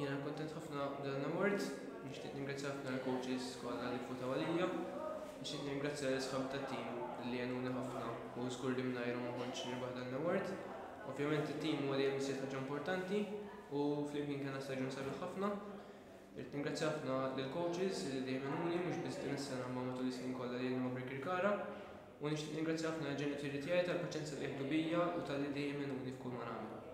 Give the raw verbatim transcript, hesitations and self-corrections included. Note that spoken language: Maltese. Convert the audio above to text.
Jiena kontent ħafna dan l-award, nixtieq ningrazzja ħafna l-coaches kollha li vvotaw għalija, nixtieq ningrazzja l-isħab tat-tim li għenuni ħafna u żgur li mingħajrhom ma kontx nirbaħ dan l-award. Ovvjament it-tim huwa dejjem iżjed ħaġa importanti u flimkien kellna staġun sabiħ ħafna. Irrid ningrazzja ħafna lill-coaches li dejjem għenuni, mhux biss din is-sena, ma matul is-snin kollha li ma' Birkirkara. U nixtieq ningrazzja ħafna l-ġenituri tiegħi tal-paċenzja li jieħdu bija u talli dejjem għenuni f'kull ma nagħmel.